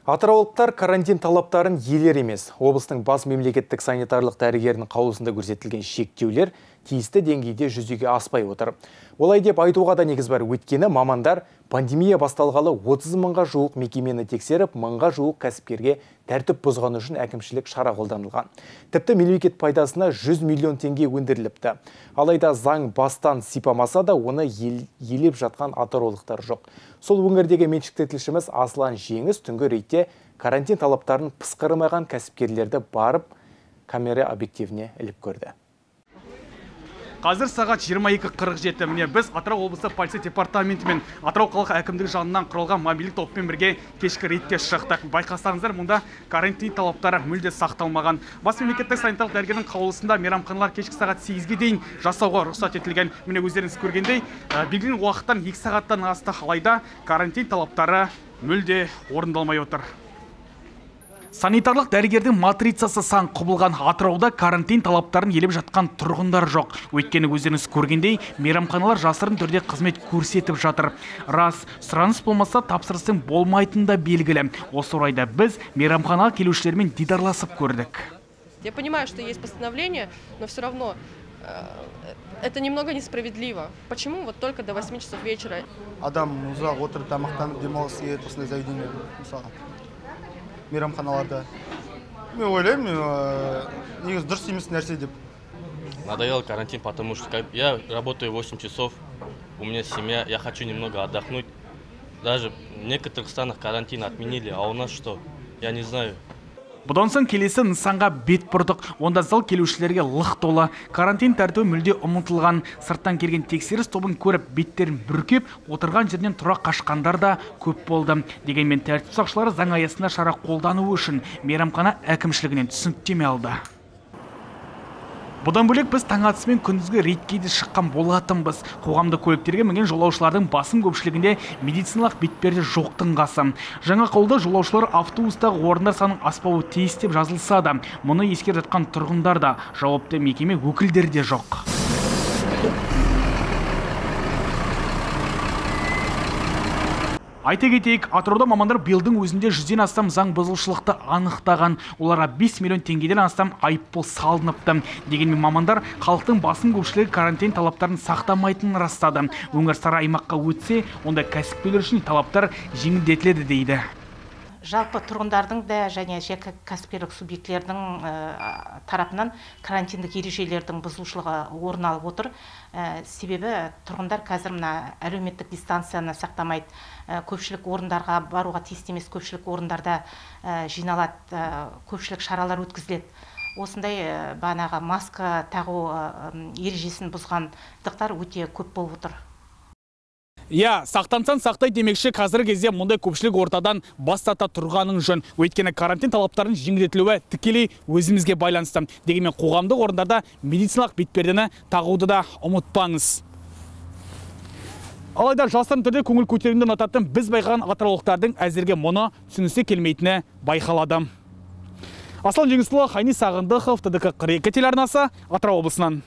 Атыраулықтар карантин талаптарын елер емес. Облыстың бас мемлекеттік санитарлық дәрігерінің қаулысында көрсетілген шектеулер тиісті деңгейде жүзеге аспай отыр. Олай деп айтуға да негіз бар. Өйткені мамандар пандемия басталғалы 30 мыңға жуық мекемені тексеріп, мыңға жуық кәсіпкерге тәртіп бұзғаны үшін әкімшілік шара қолданылған. Тіпті мемлекет пайдасына 100 миллион теңге өндіріліпті. Алайда заң бастан сипамаса да оны елеп жатқан атыраулықтар жоқ. Сол өңірдегі меншікті тілшіміз Аслан Жеңіс түнгі рейтте карантин талаптарын пысқырмаған кәсіпкерлерді барып камера объективіне іліп көрді. Қазір сағат 22:47. Міне біз Атырау облысы полиция департаменті мен Атырау қалалық әкімдігі жанынан құрылған мобильдік топпен бірге кешкі рейдке шықтық. Байқасаңыздар, мұнда карантин талаптары мүлде сақталмаған. Бас мемлекеттік санитарлық дәрігердің қаулысында мейрамханалар кешкі сағат 8-ге дейін жасауға рұқсат етілген. Міне өздеріңіз көргендей, белгіленген уақыттан 2 сағаттан асты, алайда карантин талаптары мүлде орындалмай отыр. Санитарлық дәрігердің матрицасы сан құбылған Атырауда карантин талаптарын елеп жатқан тұрғындар жоқ. Өйткені өздеріңіз көргендей, мейрамханалар жасырын түрде қызмет көрсетіп жатыр. Рас, сұраныс болмаса тапсырыстың болмайтында белгілі. Осы орайда біз мейрамханаға келушілермен дидарласып көрдік. Я понимаю, что есть постановление, но все равно это немного несправедливо. Почему вот только до 8 часов вечера? Адам ұзақ отырып тамақтанып демалыс ет, осындай заведение мысалы. Мейрамханаларда. Мен ойлаймын, негізі дұрыс емес нәрсе деп. Надоел карантин, потому что я работаю 8 часов, у меня семья, я хочу немного отдохнуть. Даже в некоторых странах карантин отменили, а у нас что? Я не знаю. Бұдан соң келесі нысанға бет бұрдық. Онда зал келушілерге лық толы. Карантин тәртібі мүлде ұмытылған. Сырттан келген тексеріс тобын көріп, беттерін бүркеп, отырған жерден тұра қашқандар да көп болды. Дегенмен тәртіп сақшылары заң аясында шара қолдануы үшін мейрамхана әкімшілігінен түсініктеме алды. Бұдан бөлек біз таң атысымен күндізгі рейдке де шыққан болатынбыз. Қоғамдық көліктерге мінген жолаушылардың басым көпшілігінде медициналық бетперде жоқтың қасы. Жаңа қаулыда жолаушылар автобустағы орындар санының аспауы тиіс деп жазылса да, мұны ескеріп жатқан тұрғындар да, жауапты мекеме өкілдері де жоқ. Айта кетейік, Атырауда мамандар биылдың өзінде 100-ден астам заң бұзушылықты анықтаған. Оларға 5 миллион теңгеден астам айыппұл салыныпты. Дегенмен мамандар халықтың басым көпшілігі карантин талаптарын сақтамайтынын растады. Өңір сары аймаққа өтсе, онда кәсіпкерлер үшін талаптар жеңілдетіледі дейді. Жалпы тұрғындардың да және жеке кәсіпкерлік субъектілердің тарапынан карантиндік ережелердің бұзушылығы орын алып отыр. Себебі тұрғындар қазір мына әлеуметтік дистанцияны сақтамайды. Көпшілік орындарға баруға тиісті емес, көпшілік орындарда жиналады, көпшілік шаралар өткізіледі. Осындай бағанағы маска тағу ережесін бұзғандықтар өте көп болып отыр. Я, сақтансаң сақтай демекші қазіргі кезде мұндай көпшілік ортадан бас тарта тұрғаның жөн. Өйткені карантин талаптарын жеңілдетілуі тікелей өзімізге байланысты. Дегенмен қоғамдық орындарда медициналық бетпердені тағуды да ұмытпаңыз. Алайда жасырын түрде көңіл көтеруді ұнататын біз байқаған атыраулықтардың әзірге мұны түсінісе келмейтіні байқалады. Аслан Жеңісұлы, Хайни Сағындықов, ТДК 42 телеарнасы, Атырау облысынан.